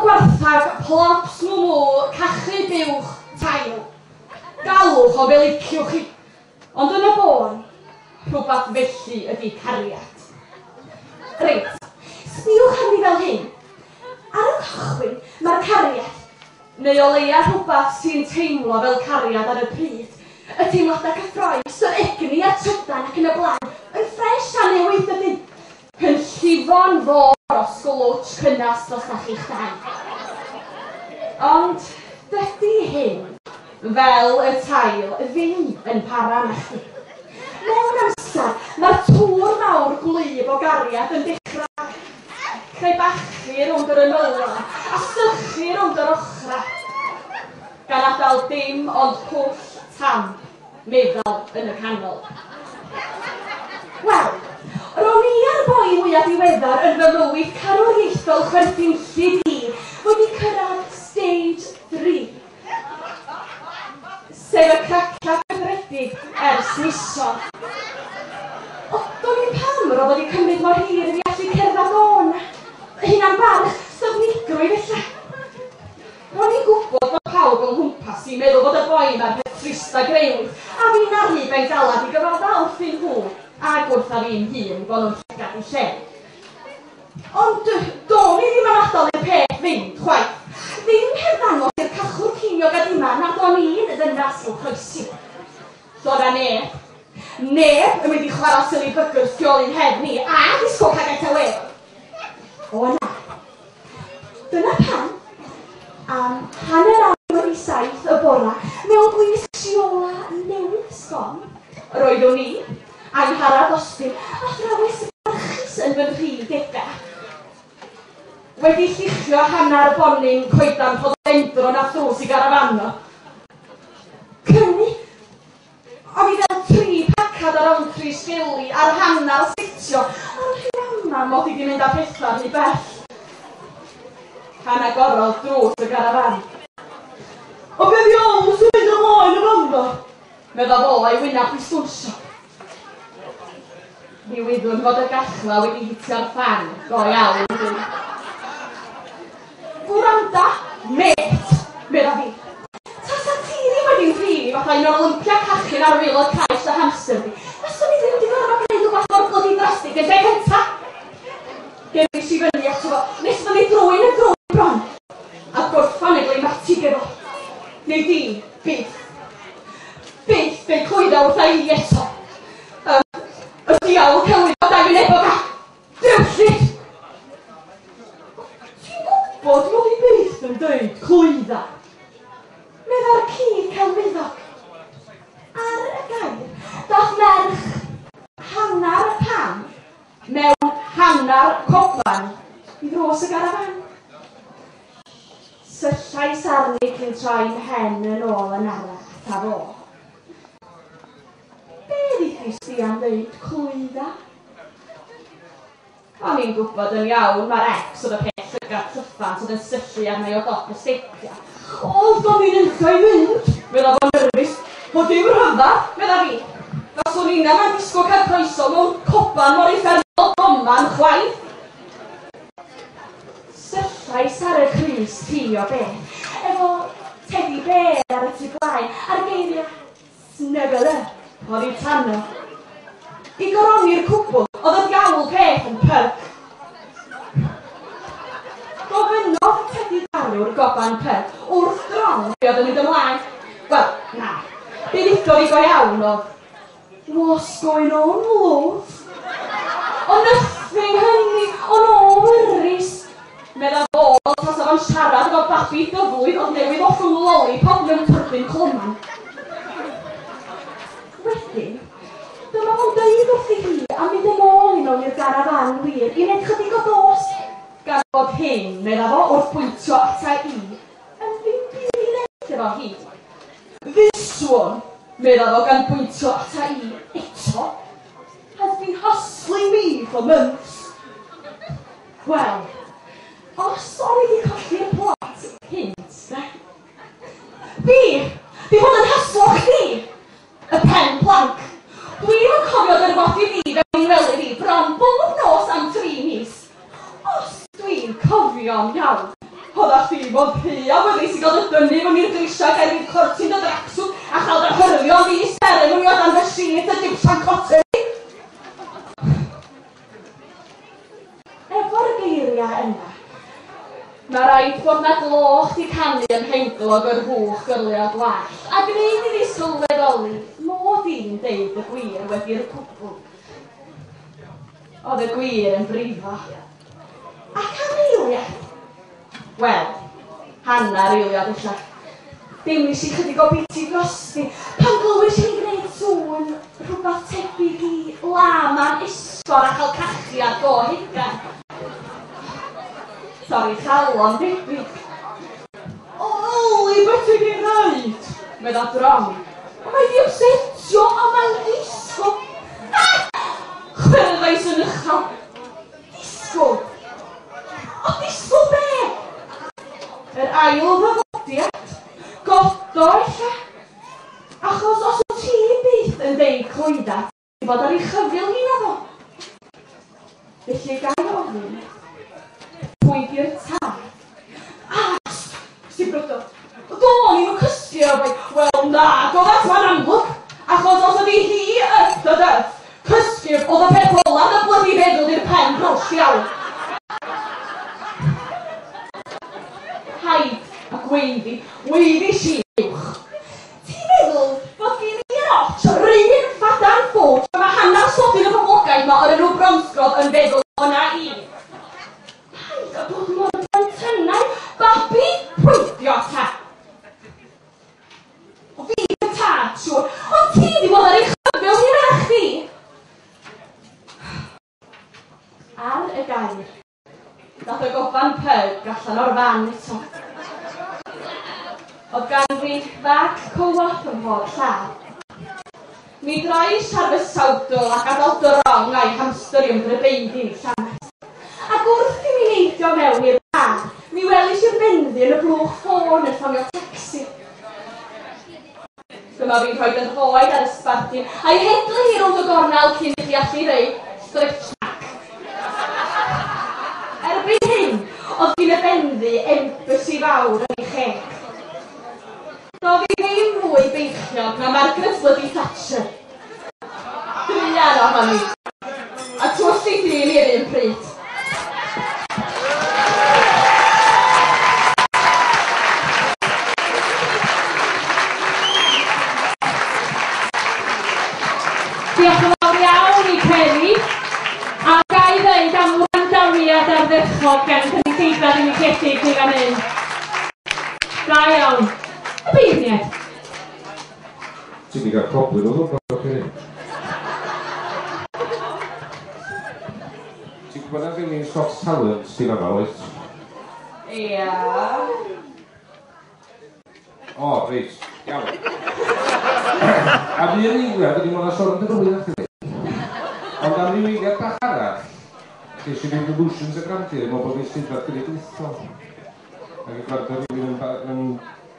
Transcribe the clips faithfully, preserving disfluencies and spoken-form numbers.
gwarthag, plops, mwmw, cachu buwch, tail. Galwch o fel liciwch chi. Ond yn y bôn, rhywbeth felly ydy cariad. Reit, sbiwch arni fel hyn. Ar y cychwyn, mae'r cariad, neu o leia rhywbeth sy'n teimlo fel cariad ar y pryd, y teimladau cyffrous, yr egni a'r trydan ac yn y blaen, yn ffres a newydd dydyn. Yn llifo'n fôr o sglwtsh cynnas dros chi'ch dau. Ond dydy hyn, fel y tail, ddim yn para na chdi. Mewn amser, mae'r tŵr mawr gwlyb o gariad yn dechrau crebachu rownd yr ymylon a sychu rownd yr ochrau, gan adael dim ond pwll tam meddal yn y canol. Wel, ro'n i a'r boi mwyaf diweddar yn fy mywyd carwriaethol chwerthinllyd i wedi cyrraedd stage three, sef y cracia cyfredig ers misoedd. O, do'n i'm pam roedd wedi cymryd mor hir i fi allu cerdded o'n hunan barch, styfnigrwydd ella. Ro'n i'n gwybod bod pawb o'n nghwmpas i'n meddwl bod y boi ma'r peth trista grewyd, a fi'n arnu bengalad i gyfadda wrthyn nhw ac wrtha fi'n hun bod nhw'n llygad i lle. Ond do'n i ddim am adael i'r peth fynd, chwaith. Ddim heb ddangos i'r cachwr ceiniog a dima nad o'n i'n ddynas i'w croesi. Doedd 'na neb, neb yn mynd i chwarae silly buggers tu ôl i'n nghefn i a disgwyl cael get away. O na. Dyna pam, am hanner awr wedi saith y bora, mewn gwisg siola newydd sbon, roeddwn i, Angharad Austin, athrawes barchus yn fy nhri degau, wedi lluchio hanner bonyn coedan rhododendron a thrws i garafano. Cynnu, o'n i fel tri pacad ar Rowntree sgeli ar hanner setio, ond rhyw ama mod i 'di mynd â pethau rhy bell. Pan agorodd drws y garafan. O be ddiawl sy'n mynd ymlaen yn fanno? Medda fo a'i wyneb i stwnsio. Mi wyddwn fod y gachla wedi hitio'r ffan go iawn. Gwranda, mêt, medda fi. Tasa ti ddim wedi'n thrin i fatha un o'r lympia cachu'n ar waelod caes dy hamster di, faswn i ddim wedi gorfod gwneud rhywbeth mor blydi drastig yn lle cynta. Gerris i fyny ato fo, nes fyny drwy'n y drwy bron, a gorffan y gleimatig efo. Neu di, byth. Byth fe'i clwydda wrtha i eto. Um, y diawl celwydd o dau wynebog a drewllyd! Ti'n gwybod mod i byth yn dweud clwydda? Medda'r ci celwyddog. Ar y gair, dath merch hannar pam mewn hannar coban i ddrws y garafan. Syllais arni cyn troi mhen yn ôl yn araf a fo. Be ddeudais di am ddeud clwydda? O'n i'n gwybod yn iawn mae'r ex oedd y peth llygad llyffant oedd yn syllu arna i o dop y stepia. O, do'n i'n unlla i fynd, medda fo'n nerfus. O, dim rhyfedd, medda fi. Faswn i'n am disgwyl cael croeso mewn coban mor uffernol doman chwaith. Syllais ar y crys ti o beth, efo teddy bear ar y tu blaen, a'r geiriau snuggle up oddi tano. I goroni'r cwbl, oedd y diawl peth yn pyg. Gofynnodd Teddy Garw'r goban pyg wrth dron be oedd yn mynd ymlaen. Wel, na, be ddudodd i go iawn oedd, "What's going on, love?" O nothing, honey, o no worries. Medda fo, tasa fo'n siarad efo babi dyflwydd oedd newydd ollwng lollipop mewn tyrbin cloman. Wedyn, dyma fo'n deud wrthi hi a mynd yn ôl i mewn i'r garafan wir i wneud chydig o dost, gan fod hyn, medda fo, wrth bwyntio ata i, yn ddim byd i wneud efo hi. "This one," medda fo gan bwyntio ata i eto, "has been hustling me for months." Wel, os o'n i wedi colli'r plot cynt, de. Fi, di bod yn haslo chdi, y pen planc. Dwi'm yn cofio dyrfodi fi fewn i'n wely fi bron bob nos am tri mis. Os dwi'n cofio'n iawn, Oedda chdi mond rhy awyddus i gael dy dynnu fyny'r grisiau ger i'r cortyn dy dracswt a chael dy hyrlio ddi seremoni o dan dy sheet y Gypsian Cotton. Efo'r geiriau yna, mae rhaid bod na gloch di canu ym mhenglog yr hwch gyrlio gwallt, a gwneud iddi sylweddoli mod i'n deud y gwir wedi'r cwbl. Oedd y gwir yn brifo. Ac am eiliad, wel, hanner eiliad ella, deimlis i chydig o biti drosti pan glywys i'n gwneud sŵn rhywbeth tebyg i lama'n esgor a chael cachiad go hugan. Torri chalon debyg. O, yli, beth ti'n ei wneud? Medda drom. O, mae di upsetio a mae'n disgwyl. Chwerddais yn uchel. Disgwyl? O, disgwyl be? Yr ail ddyfodiad. Godo ella. Achos os wyt ti byth yn deud clwydda, ti fod ar ei chyfyl hi naddo. Felly gai ofyn, pwy di'r tad? A, sibrydodd. Do'n i'm yn cysgu o bai. Wel na, doedd ma'n amlwg. Achos os ydi hi yth y dydd, cysgu oedd y peth olaf y blydi feddwl i'r pen brwsh iawn. Haid a gweiddi, weiddi si uwch. Ti'n meddwl bod gen i'r ots yr un ffadan ffwt a mae hanner sodyn y boblogaeth ma o'r enw Bromsgrove yn feddwl o'na i. Paid a bod mor blentynau, babi, pwydio ta. O fi y tad, siŵr, ond ti di bod ar ei chyfyl hi na chdi. Ar y gair, dath y goban pyg allan o'r fan eto. Oedd gan fi fag co-op ym mhob llaw. Mi drois ar fy sawdl a gadael drong a'i hamster i ymdrybeiddi'n llanast. Ac wrth i mi neidio mewn i'r car, mi welis i'r benddu yn y blwch ffôn yn ffonio tacsi. Dyma fi'n rhoi fy nhroed ar y sbardun a'i hedlu hi rownd y gornel cyn i chi allu ddeud stretch mark. Erbyn hyn, oedd gyn y benddu embassy fawr yn ei cheg. Doedd hi ddim mwy beichiog na Margaret Bloody Thatcher. Druan ohoni. A twll i dyn i'r un pryd. Diolch yn fawr iawn i Ceri. A ga i ddeud am wrandawiad ardderchog gan cynulleidfa unigedig i fan hyn. Da iawn. Y beirniaid. Ti wedi cael clobwyr o ddwrnod, Ceri. Ti'n gwybod na ddim un Scots Talent sy'n yma, oes? Ia. O, reit. Iawn. A fi yn eiliad, ydy mwyn sôn am dy fywyd chdi. Ond am ryw eiliad bach arall, ges i fynd illusions y grandeur, mewn bod fi'n Steddfod Genedlaethol. Ac yn gwrando rhywun yn, yn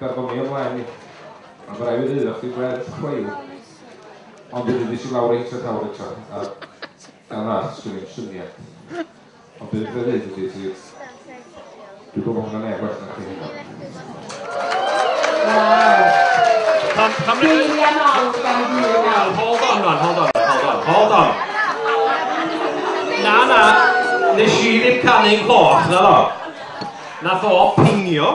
berfformio ymlaen i. A mae rhaid i ddweud, chdi werth chweil. Ond wedyn nes i lawr reit at awr eto. A gan arall, sgwn i'n syniad. Ond beth dwi'n dweud ydy, ti... Dwi'n gwybod hwnna'n neb well na chdi hynna. Waw. Geiriau mawr gan Huw nawr. Hold on, man, hold on, hold on, hold on. Na, na, nes i ddim canu'n cloch, na ddo. Nath o pingio.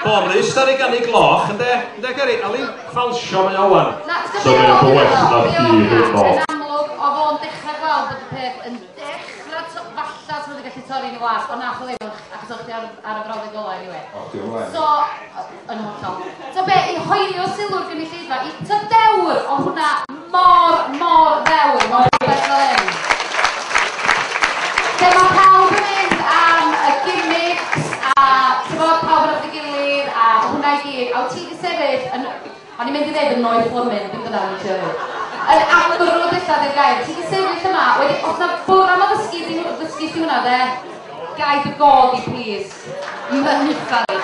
Boris da ni ganu gloch, ynde? Ynde, Ceri? Ali ffalsio mae o wan. Na, ti'n So gwybod mae'n be well oedd o? na Be chdi oedd o? heno. Yn amlwg, oedd o'n dechrau gweld bod y peth yn dechrau, to- falla ti'n wedi gallu torri yn y wasg, ond nath o ddim, achos o'ch chi ar, ar y brawddeg ola anyway. O, di ymlaen. So, yn hollol. So be, i hoelio sylw'r gynulleidfa, i ty dewr, o hwnna mor, mor ddewr, mor rhywbeth fel hyn. Lle mae pawb yn mynd am y gimmicks, a ti'n bod pawb yn wrth ei gilydd, a hwnna i gyd. A wyt ti wedi sefyll yn, o'n i'n mynd i ddeud yn noeth blymyn, ddim dyna o'n i'n siarad. Yn amrwd ella di'r gair. Ti wedi sefyll yma, wedi, os na bwrdd am addysgu, ddysgu ti hwnna de, gai dy god i, please. Mynycha fi.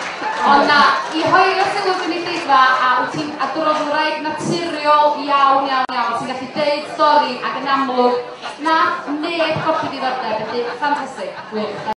Ond na, i hoelio sylw gynulleidfa, a wyt ti'n adroddwraig naturiol iawn, iawn, iawn, ti'n gallu deud stori ac yn amlwg, nath neb colli diddordeb, felly ffantastig, gwych.